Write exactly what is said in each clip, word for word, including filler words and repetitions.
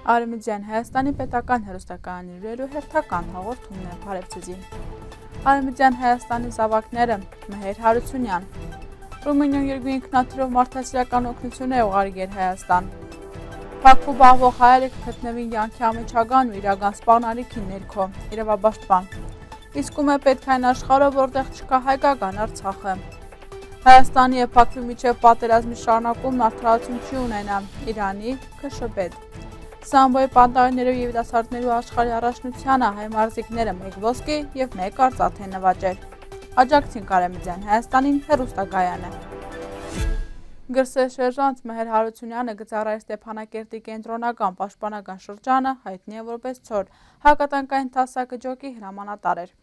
Արևմտյան Հայաստանի պետական հեռուստակայանների հերթական հաղորդումն է Փարեվցիզին։ Արևմտյան Հայաստանի զավակները Մեհեր Հարությունյան, Ռումինիոն երկու ինքնաթիռով մարդասիրական օգնություն է ուղարկել Հայաստան։ Բաքու բաղվող հայերը կգտնվին յանքի ամիջական ու իրական սպառնալիքի ներքո, իրավապաշտպան։ Իսկում է պետք այն աշխարհը, որտեղ չկա հայկական Արցախը։ Հայաստանի և Բաքվի միջև պատերազմի շարունակումն արդարացում չի ունենա, Իրանի ՔՇՊ-դ։ Սամբոյի պանտայիններով և երիտասարդներու աշխարհի առաջնությանը հայ մարզիկները մեկ ոսկի և մեկ արծաթ են նվաճել։ Աջակցին Արևմտյան Հայաստանին հեռուստակայանը։ Գրսեշերժանտ Մեհեր Հարությունյանը գծառայր Ստեփանակերտի կենտրոնական պաշտպանական շրջանը, հայտնի է որպես Ցոր, հակատանկային տասակջոկի հրամանատար էր։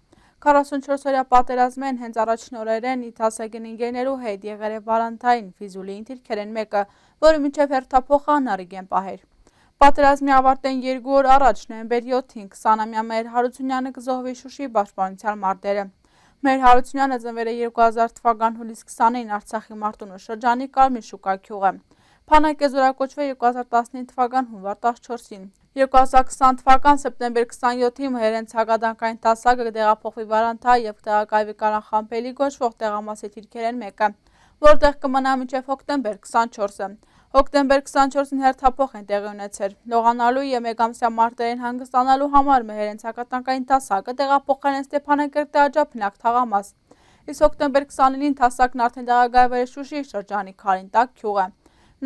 քառասունչորս-օրյա պատերազմեն հենց առաջին օրերեն ի տասակին ընկերներու հետ եղել է Վալանտայն Ֆիզուլիին դիրքերեն մեկը, որը մինչև հերթափոխան առիգեն պահեր։ Պատերազմի ավարտեն երկու օր առաջ նոյեմբեր յոթին քսանամյա Մեհեր Հարությունյանը կզոհվի Շուշիի պաշտպանության մարտերը։ Մեհեր Հարությունյանը ծնվել է երկու հազար թվական հուլիս քսանին Արցախի Մարտունու շրջանի Կարմիր շուկա գյուղը։ Փանակ է զորակոչվել երկու հազար տասնինը թվական հունվար տասնչորսին։ երկու հազար քսան թվական սեպտեմբեր քսանյոթին Մեհերենց հակադանկային տասակը կտեղափոխվի Վարանթա և կտեղակայվի Կանախամփելի գոչվող տեղամասի դիրքերեն մեկը, որտեղ կմնա մինչև հոկտեմբեր քսանչորսը։ Հոկտեմբեր քսանչորսին հերթափոխ են տեղի ունեցել։ Լողանալու և մեկամսյա մարտերին հանգստանալու համար Մեհերենց հակատանկային տասակը տեղափոխել են Ստեփանակերտի Աջափնյակ թաղամաս։ Իսկ հոկտեմբեր քսաներկուին տասակն արդեն տեղակայվել է Շուշիի շրջանի Քարինտակ գյուղը։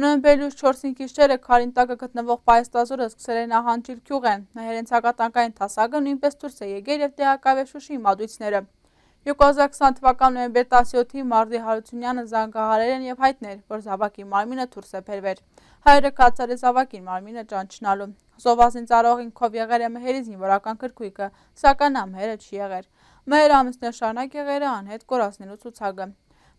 Նոյեմբերի չորսին գիշերը Քարինտակը գտնվող պայստազորը սկսել է նահանջել գյուղեն։ Մեհերենց հակատանկային տասակը նույնպես դուրս է եկել և տեղակայվել Շուշիի մատույցները։ երկու հազար քսան թվական նոյեմբեր տասնյոթին Մարտի Հարությունյանը զանգահարել են և հայտնել, որ զավակի մարմինը դուրս է բերվել։ Հայրը կացել է զավակին մարմինը ճանչնալու։ Զոհվածին ծառայող ինքով եղել է Մեհերի զինվորական գրքույկը, սակայն նա Մեհերը չի եղել։ Մեհերը ամիսներ շարունակ եղել է անհետ կորածնելու ցուցակը։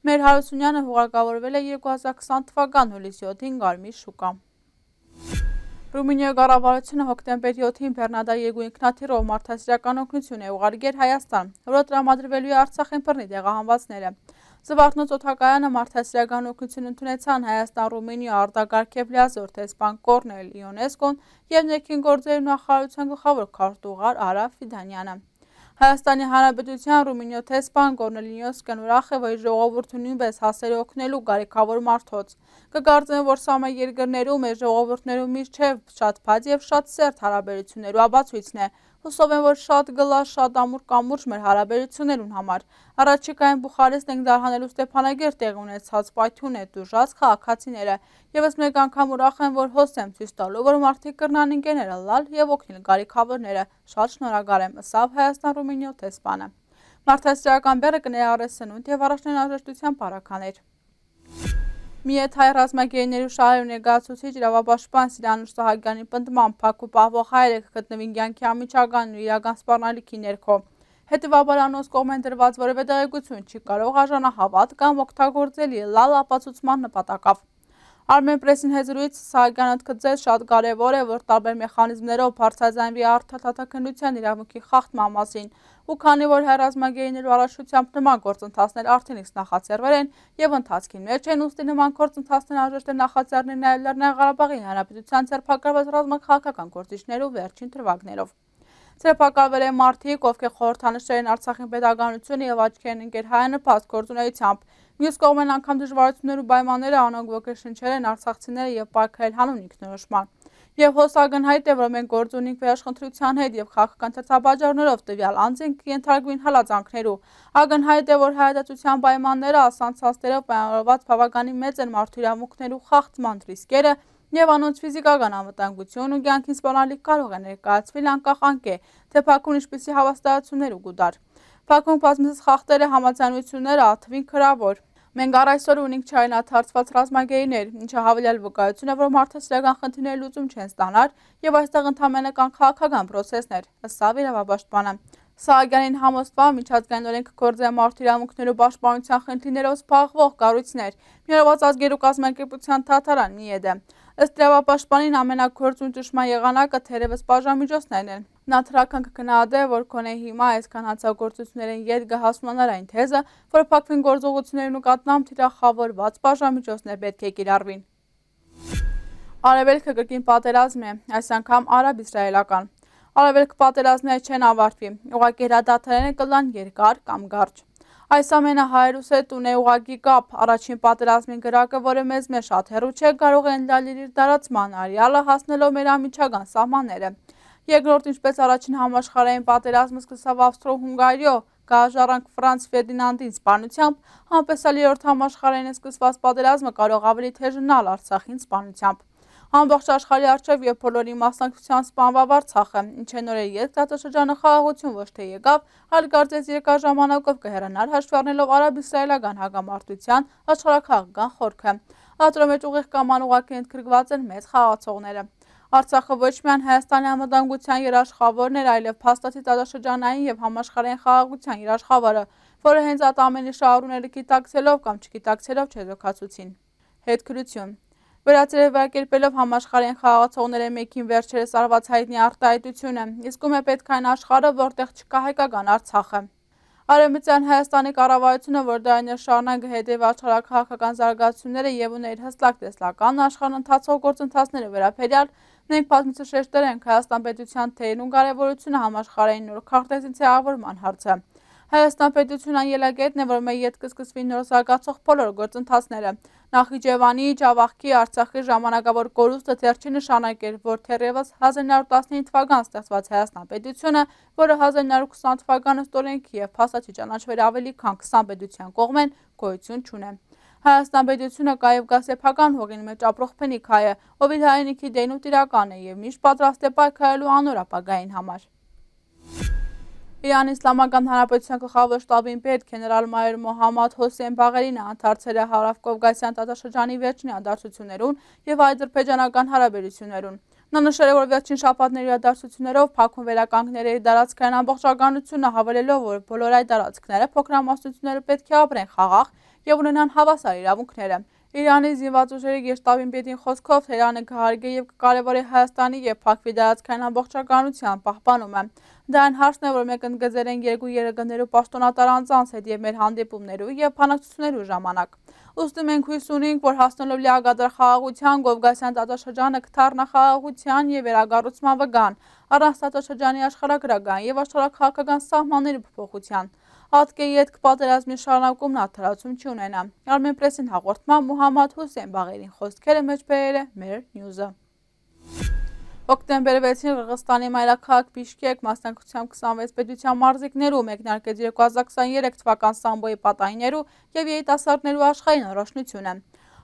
Մեհեր Հարությունյանը հուղարկավորվել է երկու հազար քսան թվական հուլիսի յոթին Կարմիր շուկա։ Ռումինիայի կառավարությունը հոկտեմբեր յոթին Բեռնադա երկու ինքնաթիռով մարդասիրական օգնություն է ուղարկել Հայաստան, որը տրամադրվելու է Արցախին բռնի տեղահանվածները։ Զվարթնոց օդակայանը մարդասիրական օգնություն ընդունեցան Հայաստան-Ռումինիա արտագաղթ լիազոր տեսփան Կորնել Իոնեսկոն և ներքին գործերի նախարարության գլխավոր քարտուղար Արա Ֆիդանյանը։ Հայաստանի Հանրապետության Ռումինիա տեսփան Կորնել Իոնեսկոն ուրախ է, որ իր ժողովուրդը նույնպես հասել է օգնելու կարիքավոր մարդոց։ Կկարծեմ, որ սա մեր երկրներում մեր ժողովուրդներու միջև շատ բաց և շատ սերտ հարաբերություններու ապացույցն է։ Հուսով եմ, որ շատ գլա, շատ ամուր կամուրջ մեր հարաբերություններուն համար։ Առաջիկայում Բուխարեստ ենք դարհանելու Ստեփանագերտ տեղի ունեցած պայթյուն է տուժած քաղաքացիները։ Եվս մեկ անգամ ուրախ եմ, որ հոս եմ ցույց տալու, որ մարդիկ կրնան ընկերները լալ և օգնել կարիքավորները։ Շատ շնորհակալ եմ, ըսավ Հայաստան-Ռումինիա տեսփանը։ Մարդասիրական բեռը կներառի սնունդ և առաջնային անհրաժեշտության պարագաներ։ Միեթ հայ ռազմագերիներու շահերու ներկայացուցիչ իրավապաշտպան Սիրանուշ Սահակյանի պնդմամբ Բաքու պահվող հայերը կգտնվին կյանքի անմիջական ու իրական սպառնալիքի ներքո։ Հետևաբար անոնց կողմեն դրված որևէ տեղեկություն չի կարող արժանահավատ կամ օգտագործելի լալ ապացուցման նպատակով։ Armenpress-ին հեզրույց Սահակյանը ընդգծեց շատ կարևոր է, որ տարբեր մեխանիզմներով բարձրաձայնվի արդարադատականության իրավունքի խախտման մասին, ու քանի որ հայ ռազմագերիներու առաջնությամբ նման գործընթացներ արդեն իսկ նախաձեռվել են և ընթացքի մեջ են, ուստի նման գործընթացներ անհրաժեշտ է նախաձեռնել նաև Լեռնային Ղարաբաղի Հանրապետության ձերբակալված ռազմաքաղաքական գործիչներու վերջին թվակներով։ Ձերբակալվել են մարդիկ, ովքեր խորհրդանշել են Արցախի պետականությունը և աչքի են ընկել հայանպաստ գործունեությամբ։ Մյուս կողմեն անգամ դժվարություններու պայմանները անոնք ոգեշնչել են արցախցիները և պարգևել հանուն ինքնորոշման։ Եվ հոս ակնհայտ է, որ մենք գործ ունենք վերաշխնդրության հետ և քաղաքական ցուցաբաժանումներով տվյալ անձինք կենթարկվին հալածանքներու։ Ակնհայտ է, որ հայատացության պայմանները ասանցածներով պայմանավորված բավականին մեծ են մարդու իրավունքներու խախտման ռիսկերը և անոնց ֆիզիկական անվտանգություն ու կյանքին սպառնալիք կարող է ներկայացվել անկախ անկե, թե Բաքուն ինչպիսի հավաստիացումներ ու գուտար։ Բաքուն բազմիցս խախտել է համաձայնությունները, աթվին քրավոր։ Մենք առ այսօր ունենք չայնաթարցված ռազմագերիներ, ինչը հավելյալ վկայություն է, որ մարդասիրական խնդիրների լուծում չեն ստանար և այստեղ ընդամենը կան քաղաքական պրոցեսներ, ըստ իրավապաշտպանը։ Սահակյանին համոզվամբ միջազգային օրենքը գործի է մարդու իրավունքներու պաշտպանության խնդիրներով զբաղվող կառույցներ, Միավորված ազգերու կազմակերպության դատարան ՄԻԵԴ-ը։ Ըստ իրավապաշտպանին ամենագործուն ճնշման եղանակը թերևս բաժանմիջոցներն են։ Նա թրական կգնահատե, որ գոնե հիմա այսքան հանցագործություններին ետ կհասունանար այն թեզը, որ Բաքվին գործողությունների նկատմամբ թիրախավորված բաժանմիջոցներ պետք է կիրառվին։ Արևելքը կրկին պատերազմ է, այս անգամ արաբ-իսրայելական։ Արևելքը պատերազմները չեն ավարտվի, ուղղակի հրադադարները կլան երկար կամ կարճ։ Այս ամենը հայրուս հետ ունի ուղղակի կապ, առաջին պատերազմի գրակը, որը մեզ մեզ շատ հեռու չէ, կարող է ընդլալել իր տարածման արեալը, հասնելով մեր անմիջական սահմանները։ Երկրորդ, ինչպես առաջին համաշխարհային պատերազմը սկսավ Ավստրո-Հունգարիո գահաժառանգ Ֆրանց Ֆերդինանդի սպանությամբ, անպեսալ երրորդ համաշխարհային սկսված պատերազմը կարող ավելի թեժանալ Արցախին սպանությամբ։ Ամբողջ աշխարհի առջև եւ բոլորի մասնակցության սպանվավ Արցախը, ինչ է նորեր երկրատաշրջանը խաղաղություն ոչ թե եկավ, այլ կարծես երկար ժամանակով կհեռանար հաշվի առնելով արաբ-իսրայելական հակամարտության աշխարհաքաղաքական խորքը։ Ադրո մեջ ուղիղ կամ անուղղակի ընդգրկված են մեծ խաղացողները։ Արցախը ոչ միայն Հայաստանի անվտանգության երաշխավորն էր, այլև փաստացի տարածաշրջանային եւ համաշխարհային խաղաղության երաշխավորը, որը հենց այդ ամենի շահառուները գիտակցելով կամ չգիտակցելով չեզոքացուցին։ Հետքրություն Վերածերևակերպելով համաշխարհային խաղացողների մեկին վերջերս արված հայտնի արտահայտությունը, իսկում է պետք այն աշխարհը, որտեղ չկա հայկական Արցախը։ Արևմտյան Հայաստանի կառավարությունը, որ դարիներ շարունակ հետևի աշխարհաքաղաքական զարգացումները եւ ուներ հստակ տեսլական աշխարհն ընթացող գործընթացները վերաբերյալ, մենք բազմիցս շեշտել ենք Հայաստան պետության թեյն ու կարևորությունը համաշխարհային նոր քարտեզի ձևավորման հարցը։ Հայաստան պետությունն ելակետն է, որ մեր ետք կսկսվի նոր զարգացող բոլոր գործընթացները։ Նախիջևանի, Ջավախքի, Արցախի ժամանակավոր կորուստը դեռ չի նշանակել, որ թերևս հազար նոր տասնինը թվականին ստեղծված Հայաստան պետությունը, որը հազար նոր քսան թվականը ստորենքի եւ փաստացի ճանաչվել ավելի քան քսան պետության կողմեն, գոյություն չունի։ Հայաստան պետությունը կայև գա սեփական հողին մեջ ապրող փնիկ հայը, ով իր հայրենիքի դեն ու տիրական է եւ միշտ պատրաստ է պայքարելու անոր ապագային համար։ Իրանի Իսլամական Հանրապետության գլխավոր շտաբին պետ գեներալ-մայոր Մոհամմադ Հոսեյն Բաղերինը անդրադարձել է Հարավ-Կովկասյան տարածաշրջանի վերջին իրադարձություններուն եւ ադրբեջանական հարաբերություններուն։ Նա նշել է, որ վերջին շաբաթների իրադարձություններով Բաքուն վերականգնել է իր տարածքային ամբողջականությունը, հավելելով, որ բոլոր այդ տարածքները փոքրամասնությունները պետք է ապրեն խաղաղ եւ ունենան հավասար իրավունքները։ Իրանի զինված ուժերի գեշտաբին պետին խոսքով Թեհրանը կհարգի եւ կկարևորի Հայաստանի եւ Բաքվի տարածքային ամբողջականության պահպանումը։ Դա այն հարցն է, որ մենք ընդգծել ենք երկու երկրներու պաշտոնատար անձանց հետ եւ մեր հանդիպումներու եւ բանակցություններու ժամանակ։ Ուստի մենք հույս ունենք, որ հասնելով լիակատար խաղաղության, Կովկասյան տարածաշրջանը կդառնա խաղաղության եւ վերագառուցման վգան, առանց տարածաշրջանի աշխարհագրական եւ աշխարհաքաղաքական սահմանների փոփոխության։ Ատկե ետք պատերազմի շարունակումն աթարացում չունենա։ Armenpress-ին հաղորդման Մոհամմադ Հոսեյն Բաղերին խոսքերը մեջ բերել է մեր նյուզը։ Հոկտեմբերի վեցին Qırğızstani մայրաքաղաք Բիշկեք մասնակցությամբ քսանվեց պետության մարզիկներու մեկնարկեց երկու հազար քսաներեք թվական Սամբոյի պատայիներու եւ երիտասարդներու աշխարհային առաջնությունը։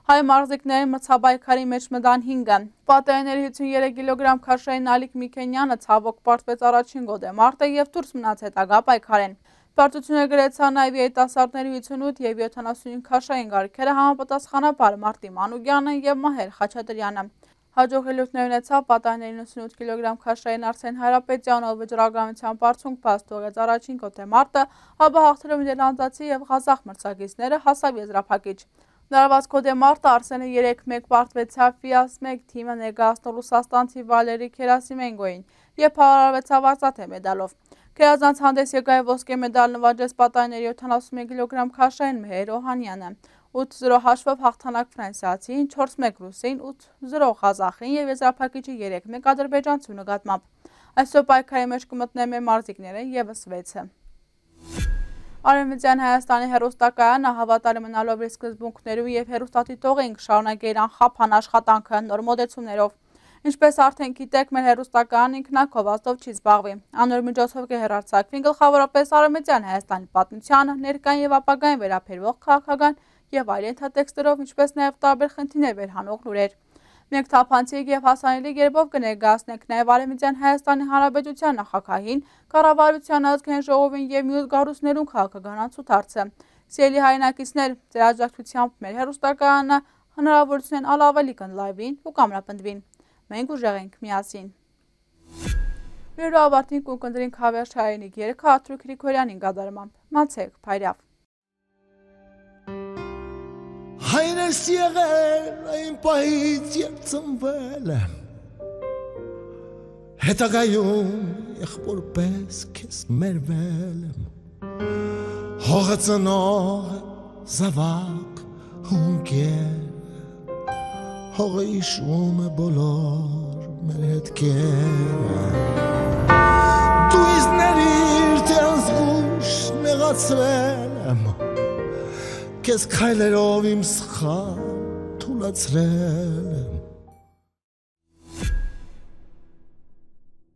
Հայ մարզիկների մրցաբայքարի մեջ մտան հինգը։ Պատայիների հիսուններեք կիլոգրամ քաշային Ալիկ Միքենյանը ցավոք պարտվեց առաջին գոդեմարտը եւ դուրս մնաց հետագա պայքարեն։ Պարտությունը գրեցան նաև երիտասարդների հիսունութ եւ յոթանասունհինգ քաշային գարքերը համապատասխանաբար Մարտի Մանուկյանը եւ Մահեր Խաչատրյանը։ Հաջող ելույթներ ունեցավ պատայիների նվեցունութ կիլոգրամ քաշային Արսեն Հայրապետյանը, ով վճռականության բարձունք փաստ թողեց առաջին գոդեմարտը, ապա հաղթելով նիդերլանդացի եւ ղազախ մրցակիցները հասավ եզրափակիչ։ Լարված գոդեմարտը Արսենը երեք մեկ պարտվեցավ Ֆիաս մեկ թիմը ներկայացնող ռուսաստանցի Վալերի Քերասիմենկոին եւ փառարարվեցավ արծաթե մեդալով։ Քերազանց հանդես եկավ ոսկե մեդալ նվաճեց պատայիների յոթանասունմեկ կիլոգրամ քաշային Մեհեր Օհանյանը, ութ զրո հաշվով հաղթանակ ֆրանսիացին, չորս մեկ ռուսին, ութ զրո ղազախին եւ եզրափակիչի երեք մեկ ադրբեջանցու նկատմամբ։ Այսօր պայքարի մեջ կմտնեն մեր մարզիկները եւս վեցը։ Արևմտյան Հայաստանի հեռուստակայանը հավատալի մնալով իր սկզբունքներու եւ հեռուստադիտողին կշարունակի իր անխափան աշխատանքը նոր մոդեցումներով։ Ինչպես արդեն գիտեք, մեր հեռուստակայանն ինքնակողվածով չի զբաղվի։ Անոր միջոցով կհեռարձակվին գլխավորապես Արևմտյան Հայաստանի պատմությանը, ներկային եւ ապագային վերաբերող քաղաքական եւ այլ ենթատեքստերով, ինչպես նաեւ տարբեր խնդիրներ վերհանող լուրեր։ Մենք թափանցիկ եւ հասանելի կերպով կներկայացնենք նաեւ Արևմտյան Հայաստանի Հանրապետության նախագահին, կառավարության ազգային ժողովին եւ մյուս կառույցներուն քաղաքական անցուդարձը։ Սիրելի հայրենակիցներ, ձեր աջակցությամբ մեր հեռուստակայանը հնարավորություն են ավելի կընդլայվին ու կամրապնդվին։ Մենք ուժեղ ենք միասին։ Վիրո ավարտին կունկնդրին հավերջ հայրենիք երգը Աթրիկ Գրիգորյանին կատարմամբ։ Մացեք, փայրավ։ Հայրս եղել այն պահից երբ ծնվել եմ, հետագայում եղբոր պես քեզ մերվել եմ, հողը ծնող զավակ հունկեր, հողը իշում է բոլոր մեր հետքերը Դու ինձ ներիր թե անզգույշ նեղացրել եմ Քեզ քայլերով իմ սխալ թուլացրել եմ